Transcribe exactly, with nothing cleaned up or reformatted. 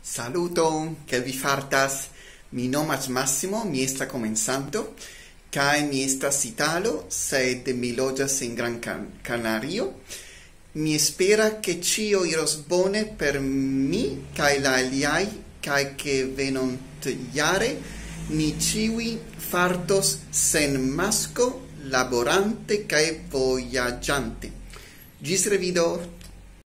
Saluton, kiel vi fartas? Mi nomas Massimo, mi estas komencanto, kaj mi estas italo, sed mi loĝas en Gran Can-, Canario. Mi esperas, ke ĉio iros bone per mi kaj la aliaj, kaj ke venonte jare ni ĉiuj fartos sen masko, laborante kaj vojaĝante. Ĝis revido!